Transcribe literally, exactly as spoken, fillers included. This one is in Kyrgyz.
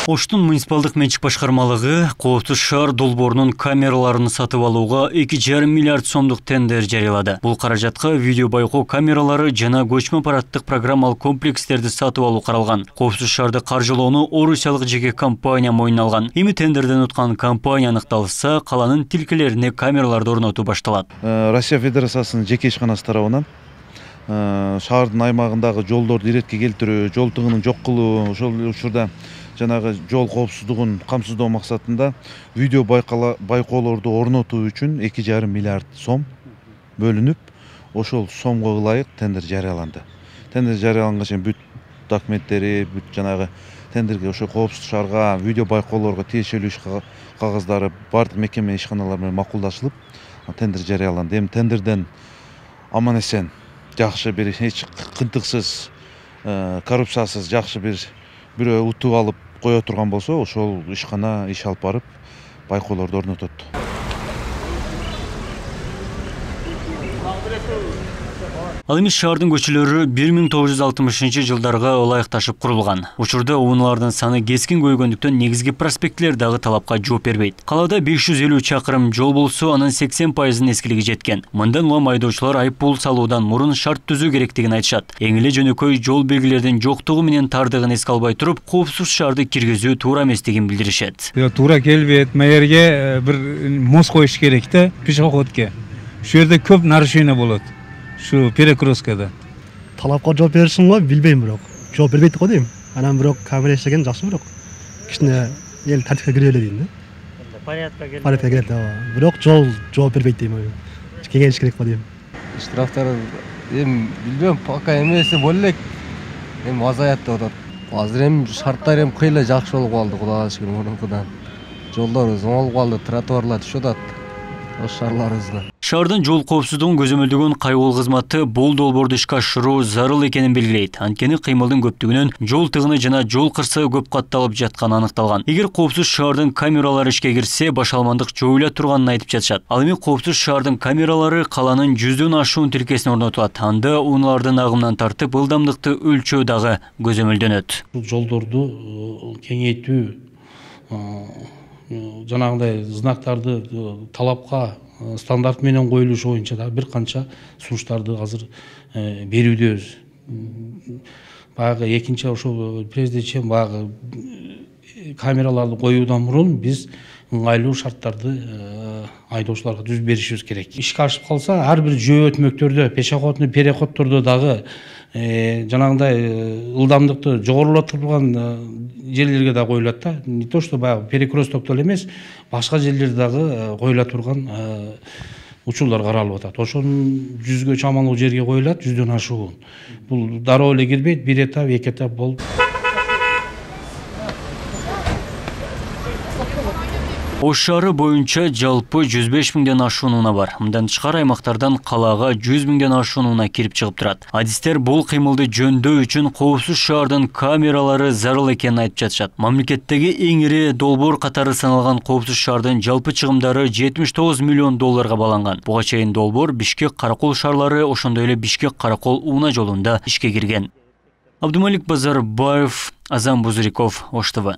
Оштун муниципалдык менчик башкармалыгы Коопсуз шаар долбоорунун камераларын сатып алууга эки жарым миллиард сомдук тендер жарыялады. Бул каражатка видео байкоо камералары жана көчмө аппараттык программалык комплекстерди сатып алуу каралган. Коопсуз шаарды каржылоону орусиялык жеке компания мойнуна алган. Эми тендерден уткан компания аныкталса, каланын тилкелерине камераларды орнотуу башталат. Россия Федерациясынын жеке ишканасы тарабынан шаардын аймагындагы жолдорду иретке келтирүү, жол тыгынын жок кылуу, ошол учурда жанагы жол коопсуздугун камсыздоо максатында видео байкоолорду орнотуу үчүн эки жарым миллиард сом бөлүнүп, ошол сомго ылайык тендер жарыяланды. Тендер жарыяланган чейин бүт документтери, бүт жанагы тендерге ошо Коопсуз шаарга видео байкоолорго тиешелүү иш кагаздары бардык мекеме ишканалар менен макулдашылып, тендер жарыяланды. Эми тендерден аман эсен жакшы бир эч кынтыксыз, коррупциясыз жакшы бир бирөө утуп алып кое турган болсо, ошол ишкана иш алып барып байкоолорду орнотот. Ал эми шаардын көчөлөрү бир миң тогуз жүз алтымышынчы жылдарга ылайыкташып курулган. Учурда унаалардын саны кескин көйгөндүктөн негизги проспекттер дагы талапка жооп бербейт. Калаада беш жүз элүү чакырым жол болсо, анын сексен пайызынын эскилиги жеткен. Мындан улам айдоочулар айыппул салуудан мурун шарт түзүү керектигин айтышат. Эң эле жөнөкөй жол белгилердин жоктугу менен тардыгын эске албай туруп, Коопсуз шаарды киргизүү туура эместигин билдиришет. Туура келбейт, маерге бир мост коюш керек да, пешеходке. Шу жерде көп нарушение болот. Шу перекресткада. Талапка жооп беришин го билбейм, бирок жооп бербейт го дейм. Анан бирок камера иштеген жакшы, бирок кичине эл тартипке кире эле дейм да. Порядка келет. Порядка келет, бирок жол жооп бербейт дейм. Кеңеш керек го дейм. Штрафтар эми билбейм, пока эмеси боло элек. Эми азаят деп атат. Азыр эми шарттар эми кыйла жакшы болуп калды, Кудайга шүгүр, мурункудан. Жолдорубуз оңолуп калды, тротуарлар түшүп атат. Шаардын жол коопсуздугун көзөмөлдөгөн кайгыл кызматы бул долбоорду ишке ашыруу зарыл экенин белгилейт. Анткени кыймылдын көптүгүнөн жол тыгыны жана жол кырсыгы көп катталып жатканы аныкталган. Эгер Коопсуз шаардын камералары ишке кирсе, башалмандык жоюла турганын айтып жатышат. Ал эми Коопсуз шаардын камералары каланын жүздөн ашуун тилкесине орнотулат. Анда унаалардын агымынан тартып ылдамдыкты өлчөө дагы көзөмөлдөнөт. Жолдорду кеңейтүү, жанагындай знактарды талапка стандарт менен коюлушу боюнча да бир канча сунуштарды азыр берүүдөбүз. Баягы экинчи ошо прежде баягы камераларды коюудан мурун биз ыңгайлуу шарттарды айдоочуларга түзүп беришибиз керек. Ишке ашып калса, ар бир жөө өтмөктөрдө, пешеходный переходдордо дагы жанагындай ылдамдыкты жогорулатылган жерлерге да коюлат да. Не то что баягы перекресткте эле эмес, башка жерлерде дагы коюла турган учурлар каралып атат. Ошонун жүзгө чамалуу жерге коюлат, жүздөн ашуун. Бул дароо эле кирбейт, бир этап, эки этап болуп. Ош шаары боюнча жалпы жүз беш миңден ашуун унаа бар. Мындан тышкары аймактардан калаага жүз миңден ашуун унаа кирип чыгып турат. Адистер бул кыймылды жөндөө үчүн Коопсуз шаардын камералары зарыл экенин айтып жатышат. Мамлекеттеги эң ири долбоор катары саналган Коопсуз шаардын жалпы чыгымдары жетимиш тогуз миллион долларга баланган. Буга чейин долбоор Бишкек Каракол шаарлары, ошондой эле Бишкек Каракол унаа жолунда ишке кирген. Абдумалик Базарбаев, Азам Бузуриков, Ош ТВ.